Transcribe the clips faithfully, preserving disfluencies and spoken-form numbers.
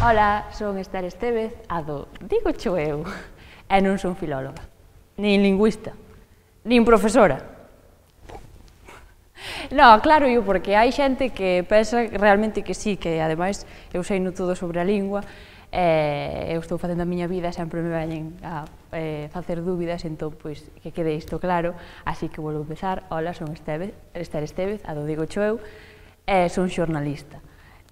Ola, son Esther Estévez, a do Digo Cho Eu, e non son filóloga, nin lingüista, nin profesora. No, claro, eu, porque hai xente que pensa realmente que sí, que ademais eu sei no todo sobre a lingua, e eu estou facendo a miña vida, sempre me veñen a eh, facer dúbidas, entón, pois, que quede isto claro, así que volvo a empezar. Ola, son Esther Estévez, a do Digo Cho Eu, e son xornalista.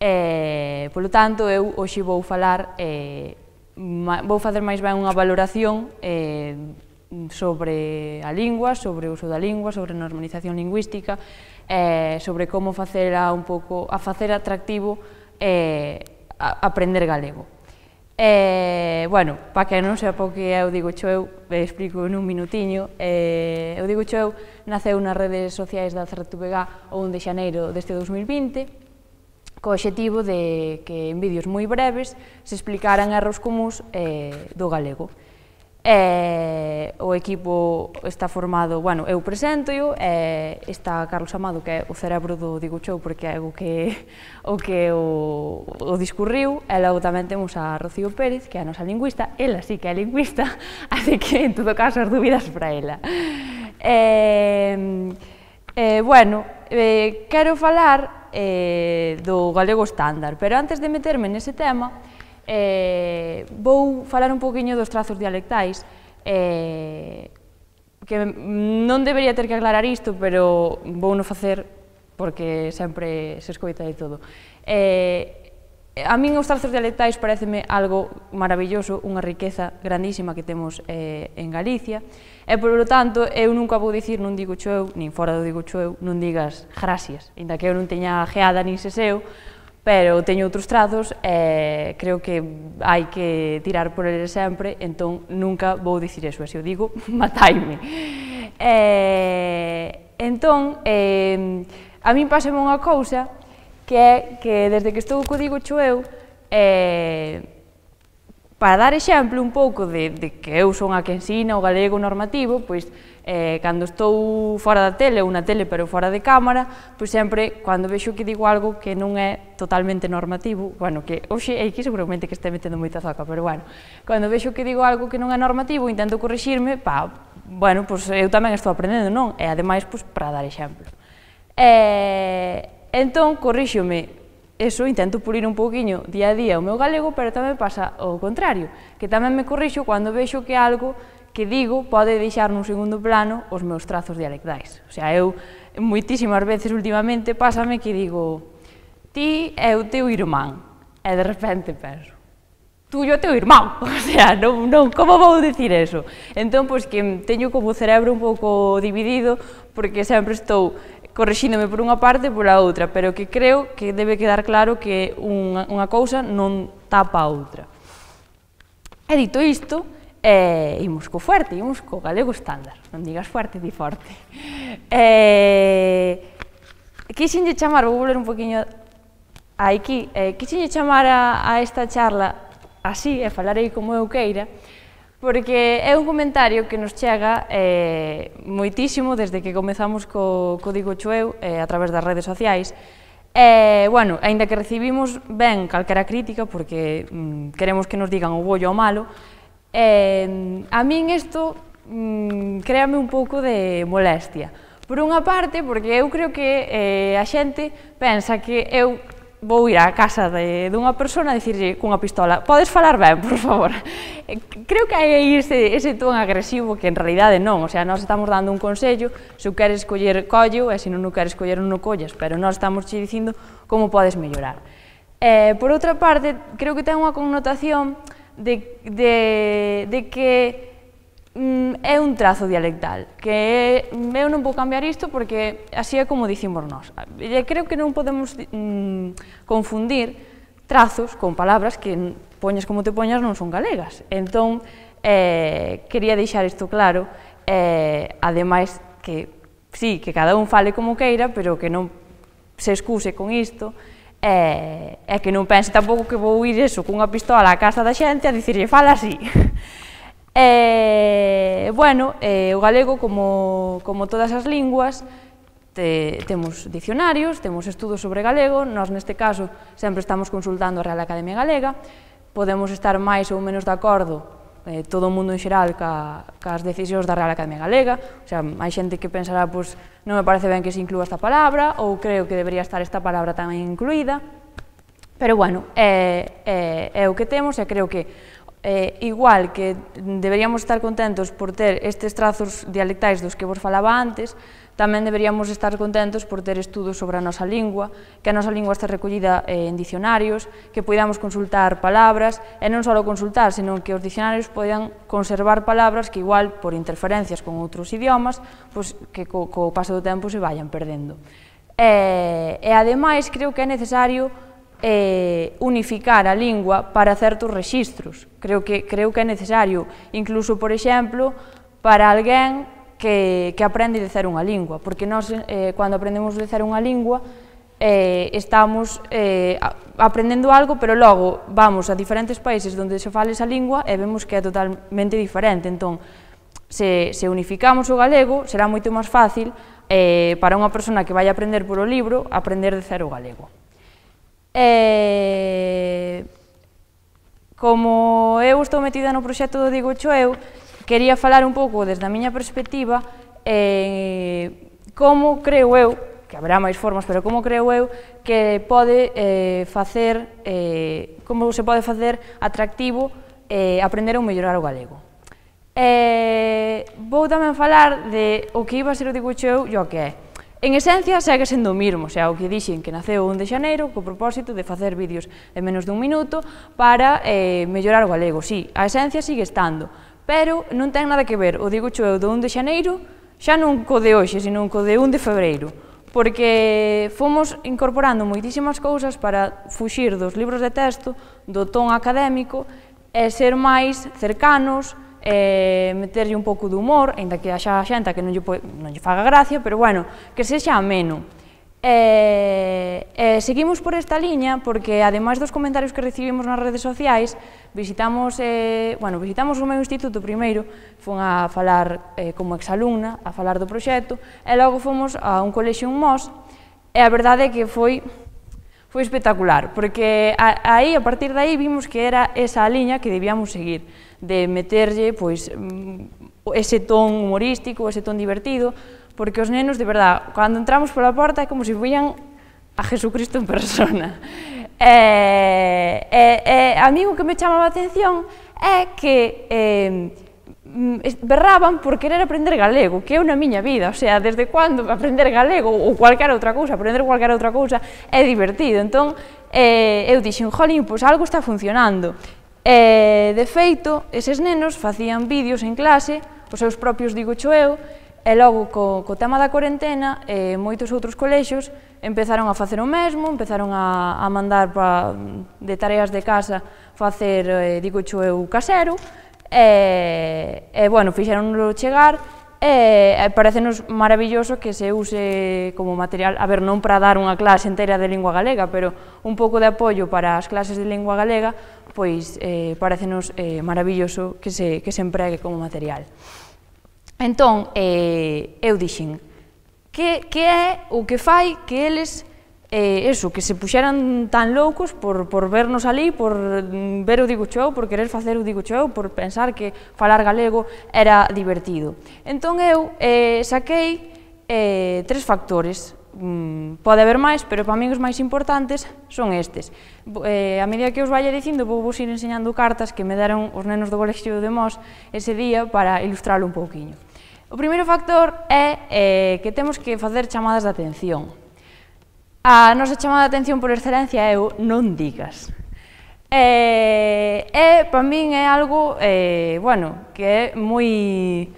E, polo tanto, eu hoxe vou falar, eh, vou facer máis ben unha valoración eh, sobre a lingua, sobre o uso da lingua, sobre a normalización lingüística, eh, sobre como facela un pouco, a facer atractivo eh, a, aprender galego. E, bueno, para que non sepa o que é o Digo Cho Eu, explico nun minutiño. Eh, o Digo Cho Eu naceu nas redes sociais da Cerretubegá o un de xaneiro deste dous mil vinte, co obxectivo de que en vídeos moi breves se explicaran erros comúns eh, do galego. E, o equipo está formado, bueno, eu presento-o, e está Carlos Amado, que é o cerebro do Digo Cho Eu, porque é o que o, que o, o discurriu, e logo tamén temos a Rocío Pérez, que é a nosa lingüista, ela sí que é lingüista, así que, en todo caso, as dúbidas para ela. E, e bueno, eh, quero falar Eh, do galego estándar, pero antes de meterme nese tema eh, vou falar un poquinho dos trazos dialectais, eh, que non debería ter que aclarar isto, pero vou non facer porque sempre se escoita de todo. Eh, a min os trazos dialectais pareceme algo maravilloso, unha riqueza grandísima que temos eh, en Galicia, e, polo tanto, eu nunca vou dicir nun Digo Cho Eu, nin fora do Digo Cho Eu, non digas gracias, inda que eu non teña geada nin seseo, pero teño outros trazos e creo que hai que tirar por eles sempre, entón nunca vou dicir eso, e se o digo, mataime. E, entón, eh, a min pásame unha cousa, que é que desde que estou co Digo Cho Eu, eh, para dar exemplo un pouco de, de que eu son a que ensina o galego normativo, pois eh, cando estou fora da tele, ou na tele pero fora de cámara, pois sempre, cando vexo que digo algo que non é totalmente normativo, bueno, que hoxe é que seguramente que este metendo moita zoca, pero bueno, cando vexo que digo algo que non é normativo, intento corrixirme, pa, bueno, pois eu tamén estou aprendendo, non? E ademais, pois, para dar exemplo. E, entón, corríxome, eso, intento pulir un pouquiño día a día o meu galego, pero tamén pasa o contrario, que tamén me corrixo cando vexo que algo que digo pode deixar nun segundo plano os meus trazos dialectais. O sea, eu moitísimas veces últimamente pásame que digo ti é o teu irmán, e de repente penso tuyo é o teu irmán, o sea, non, non, como vou dicir eso? Entón, pois que teño como o cerebro un pouco dividido, porque sempre estou corrixíndome por unha parte e pola outra, pero que creo que debe quedar claro que unha, unha cousa non tapa a outra. E dito isto, eh, imos co fuerte, imos co galego estándar, non digas fuerte, di forte. Eh, quixenlle chamar, vou volver un poquinho aquí, eh, quixenlle chamar a, a esta charla así, e falarei como eu queira, porque é un comentario que nos chega eh, moitísimo desde que comezamos co, co Digo Cho Eu eh, a través das redes sociais. E, bueno, aínda que recibimos ben calquera crítica, porque mm, queremos que nos digan o bo e o malo, eh, a min isto mm, créame un pouco de molestia. Por unha parte, porque eu creo que eh, a xente pensa que eu vou ir á casa de, dunha persona e dicirlle cunha pistola, podes falar ben, por favor. Creo que hai aí ese, ese ton agresivo que en realidade non, o sea, nós estamos dando un consello, se o queres coller, collo, e se non o queres coller, non o collas, pero nós estamos che dicindo como podes mellorar. Eh, por outra parte, creo que ten unha connotación de, de, de que mm, é un trazo dialectal, que eu non vou cambiar isto porque así é como dicimos nós. E creo que non podemos mm, confundir trazos con palabras que poñas como te poñas non son galegas. Entón, eh, quería deixar isto claro, eh, ademais que, sí, que cada un fale como queira, pero que non se excuse con isto, e eh, que non pense tampouco que vou ir eso cunha pistola á casa da xente a dicirlle fala así. E, bueno, eh, o galego, como, como todas as linguas, te, temos dicionarios, temos estudos sobre galego, nós neste caso sempre estamos consultando a Real Academia Galega, podemos estar máis ou menos de acordo, eh, todo o mundo en xeral, ca, cas decisións da Real Academia Galega, o sea, hai xente que pensará, pois, non me parece ben que se inclúa esta palabra, ou creo que debería estar esta palabra tamén incluída, pero, bueno, é, é, é o que temos, e creo que Eh, igual que deberíamos estar contentos por ter estes trazos dialectais dos que vos falaba antes, tamén deberíamos estar contentos por ter estudos sobre a nosa lingua, que a nosa lingua está recollida eh, en dicionarios, que podamos consultar palabras, e non só consultar, senón que os dicionarios podan conservar palabras que igual, por interferencias con outros idiomas, pois, que co, co paso do tempo se vayan perdendo. E, e ademais, creo que é necesario Eh, unificar a lingua para certos rexistros. Creo que, creo que é necesario, incluso, por exemplo, para alguén que, que aprende de cero unha lingua, porque nós, eh, cando aprendemos de cero unha lingua, eh, estamos eh, aprendendo algo, pero logo vamos a diferentes países onde se fala esa lingua e vemos que é totalmente diferente. Entón, se, se unificamos o galego, será moito máis fácil eh, para unha persona que vai aprender por o libro, aprender de cero o galego. E, como eu estou metida no proxecto do Dígocho eu, quería falar un pouco desde a miña perspectiva eh, como creo eu, que haberá máis formas, pero como creo eu que pode eh, facer, eh, como se pode facer atractivo eh, aprender ou mellorar o galego. Eh, vou tamén falar de o que iba a ser o Dígocho eu e o que é. En esencia, segue sendo o mismo, o sea, o que dixen que naceu o un de xaneiro co propósito de facer vídeos en menos dun minuto para eh, mellorar o galego. Sí, a esencia sigue estando, pero non ten nada que ver o Dígocho eu do un de xaneiro xa non co de hoxe, sino co de un de febreiro, porque fomos incorporando moitísimas cousas para fuxir dos libros de texto, do ton académico, e ser máis cercanos, eh, meterlle un pouco de humor, ainda que haxa xente que non lle, non lle faga gracia, pero bueno, que sexa ameno. E, e seguimos por esta liña porque, ademais dos comentarios que recibimos nas redes sociais, visitamos, eh, bueno, visitamos o meu instituto primeiro, fun a falar eh, como exalumna, a falar do proxecto, e logo fomos a un colexio en Mos, e a verdade é que foi foi espectacular, porque aí, a partir de aí, vimos que era esa liña que debíamos seguir, de meterlle, pois, ese ton humorístico, ese ton divertido, porque os nenos, de verdad, cando entramos pola porta é como se fuían a Jesucristo en persona. E, e, e a mí o que me chamaba a atención é que eh, berraban por querer aprender galego, que é na miña vida, o sea, desde cando aprender galego ou cualquier outra cousa, aprender cualquier outra cousa é divertido. Entón, eh, eu dixen, jolín, pois algo está funcionando. E, de feito, eses nenos facían vídeos en clase, os seus propios Dígocho eu, e logo, co, co tema da cuarentena, eh, moitos outros colexios empezaron a facer o mesmo, empezaron a, a mandar pa, de tareas de casa facer eh, Dígocho eu casero, e, e bueno, fixeronlo chegar, e, e parecenos maravilloso que se use como material, a ver, non para dar unha clase inteira de lingua galega, pero un pouco de apoio para as clases de lingua galega, pois eh, parecenos eh, maravilloso que se, que se empregue como material. Entón, eh, eu dixen, que, que é o que fai que eles, eh, eso, que se puxeran tan loucos por, por vernos ali, por ver o Dígocho eu, por querer facer o Dígocho eu, por pensar que falar galego era divertido. Entón eu eh, saquei eh, tres factores. Mm, pode haber máis, pero para min os máis importantes son estes. Eh, a medida que os vaya dicindo, vou vos ir enseñando cartas que me deron os nenos do colexio de Mos ese día para ilustrarlo un pouquiño. O primeiro factor é eh, que temos que facer chamadas de atención. A nosa chamada de atención por excelencia é o non digas. E, e para min é algo, eh, bueno, que é moi...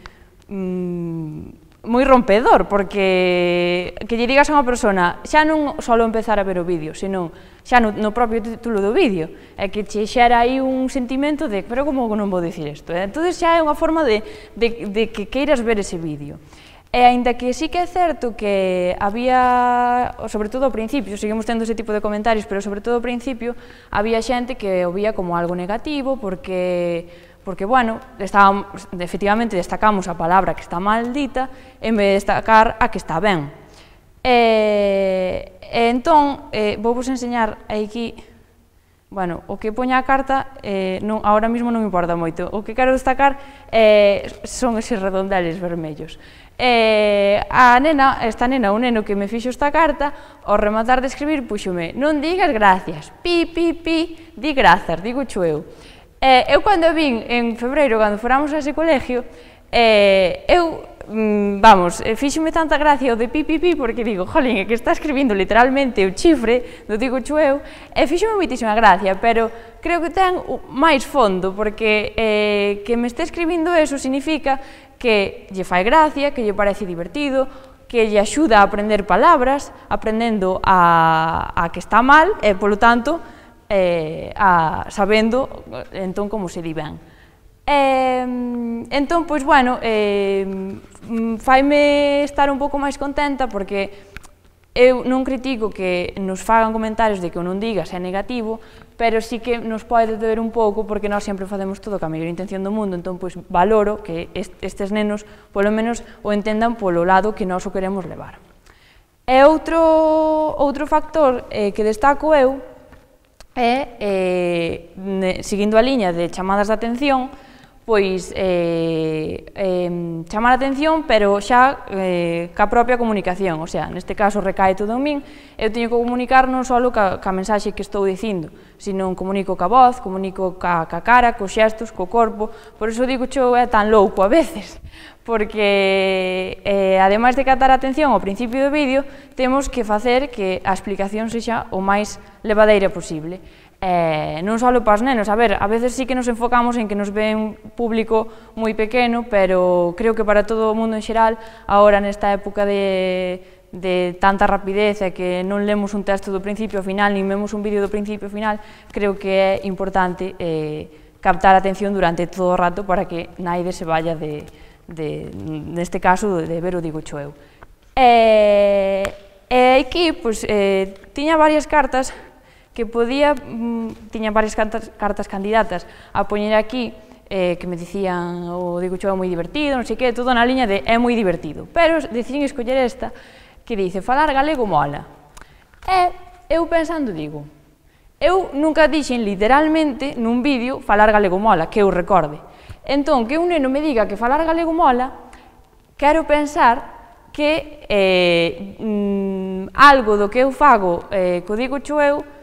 Mm, moi rompedor, porque que lle digas a unha persona xa non só empezar a ver o vídeo, senón xa no, no propio título do vídeo, é que che xera aí un sentimento de, pero como non vou dicir isto? Eh? Entón xa é unha forma de, de, de que queiras ver ese vídeo. E aínda que sí que é certo que había, sobre todo ao principio, seguimos tendo ese tipo de comentarios, pero sobre todo ao principio, había xente que o vía como algo negativo, porque... porque, bueno, estábamos, efectivamente destacamos a palabra que está mal dita en vez de destacar a que está ben. E, e entón, eh, vou vos enseñar aquí, bueno, o que poña a carta, eh, non, ahora mismo non me importa moito. O que quero destacar eh, son eses redondeles vermellos. Eh, a nena, esta nena, o neno que me fixo esta carta, ao rematar de escribir, puxome, non digas gracias, pi, pi, pi, di grazas, digo cho eu. Eh, eu cando vin en febreiro, cando foramos a ese colegio, eh, eu, mm, vamos, fíxome tanta gracia o de pi, pi, pi, porque digo, jolín, é que está escribindo literalmente o chifre, do digo cho eu, e fíxome moitísima gracia, pero creo que ten máis fondo, porque eh, que me este escribindo eso significa que lle fai gracia, que lle parece divertido, que lle axuda a aprender palabras, aprendendo a, a que está mal, e, polo tanto, eh, a, sabendo, entón, como se di ben. Eh, entón, pois, bueno, eh, faime estar un pouco máis contenta, porque eu non critico que nos fagan comentarios de que o non digas é negativo, pero sí que nos pode doer un pouco porque nós sempre facemos todo ca mellor intención do mundo, entón pois valoro que estes nenos polo menos o entendan polo lado que nós o queremos levar. E outro, outro factor eh, que destaco eu é, eh, seguindo a liña de chamadas de atención, pois eh, eh, chamar a atención, pero xa eh, ca propia comunicación, o sea, neste caso recae todo en min, eu teño que comunicar non só ca, ca mensaxe que estou dicindo, sino comunico ca voz, comunico ca, ca cara, cos xestos, co corpo, por iso digo xo é tan louco a veces, porque eh, ademais de captar a atención ao principio do vídeo, temos que facer que a explicación sexa o máis levadeira posible. Eh, non só para os nenos, a ver, a veces sí que nos enfocamos en que nos ve un público moi pequeno, pero creo que para todo o mundo en xeral, agora nesta época de, de tanta rapidez e que non lemos un texto do principio ao final, nin vemos un vídeo do principio ao final, creo que é importante eh, captar a atención durante todo o rato para que naide se vaya de, de neste caso, de ver o digo cho eu. E, e aquí, pois, eh, tiña varias cartas que podía, tiña varias cartas, cartas candidatas a poñer aquí, eh, que me dicían o digo cho é moi divertido, non sei que, todo na liña de é moi divertido, pero decidín escoller esta que dice falar galego mola. E eu pensando digo, eu nunca dixen literalmente nun vídeo falar galego mola, que eu recorde. Entón, que un neno me diga que falar galego mola, quero pensar que eh, mm, algo do que eu fago eh, co digo cho eu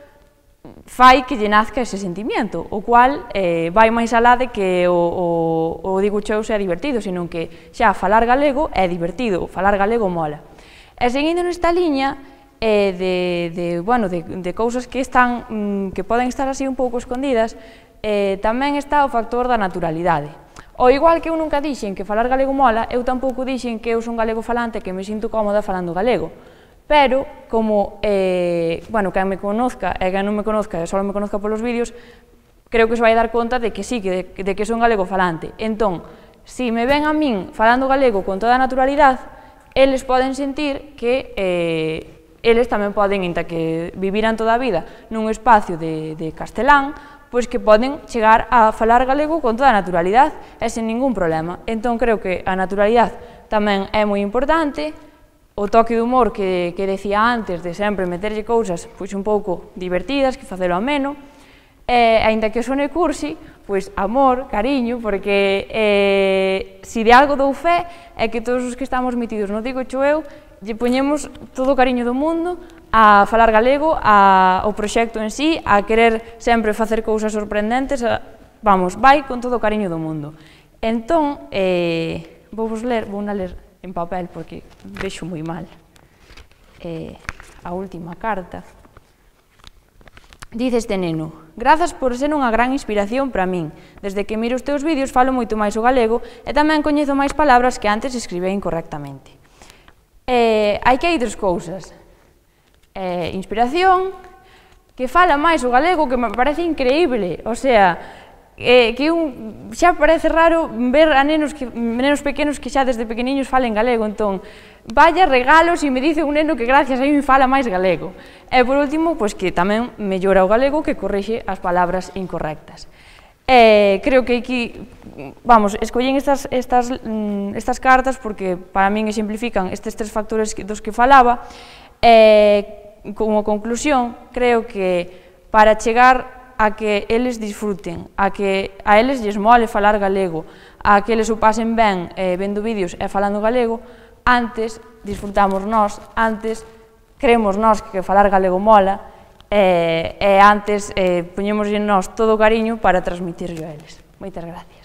fai que lle nazca ese sentimiento, o cual eh, vai máis alá de que o, o, o digo cho eu sea divertido, senón que xa falar galego é divertido, falar galego mola. E seguindo nesta liña eh, de, de, bueno, de, de cousas que, están, mm, que poden estar así un pouco escondidas, eh, tamén está o factor da naturalidade. O igual que eu nunca dixen que falar galego mola, eu tampouco dixen que eu son galego falante e que me sinto cómoda falando galego. Pero, como, eh, bueno, quen me conozca e quen non me conozca e só me conozca polos vídeos, creo que se vai dar conta de que sí, de, de que son galego falante. Entón, se me ven a min falando galego con toda a naturalidade, eles poden sentir que eh, eles tamén poden, inta que viviran toda a vida nun espacio de, de castelán, pois que poden chegar a falar galego con toda a naturalidade e sen ningún problema. Entón, creo que a naturalidade tamén é moi importante, o toque de humor que, que decía antes, de sempre meterlle cousas pois un pouco divertidas, que facelo ameno, e, aínda que sone cursi, pois amor, cariño, porque eh, si de algo dou fe é que todos os que estamos metidos no digo cho eu, lle poñemos todo o cariño do mundo a falar galego, a, ao proxecto en sí, a querer sempre facer cousas sorprendentes, a, vamos, vai con todo o cariño do mundo. Entón, eh, vou vos ler, vou na ler en papel porque vexo moi mal. Eh, a última carta. Dice este neno: grazas por ser unha gran inspiración para min. Desde que miro os teus vídeos falo moito máis o galego e tamén coñezo máis palabras que antes escribía incorrectamente. Eh, hai que hai tres cousas. Eh, inspiración, que fala máis o galego, que me parece increíble, o sea, Eh, que un, xa parece raro ver a nenos, que, nenos pequenos que xa desde pequeniños falen galego, entón, vaya regalos e me dice un neno que gracias a mí fala máis galego. E por último, pois que tamén mellora o galego, que corrixe as palabras incorrectas. E creo que aquí, vamos, escollín estas, estas, estas cartas porque para min exemplifican estes tres factores dos que falaba, e como conclusión, creo que para chegar a que eles disfruten, a que a eles lles mole falar galego, a que eles o pasen ben eh, vendo vídeos e falando galego, antes disfrutamos nós, antes creemos nós que falar galego mola, e, e antes eh, poñemos en nós todo o cariño para transmitirlo a eles. Moitas gracias.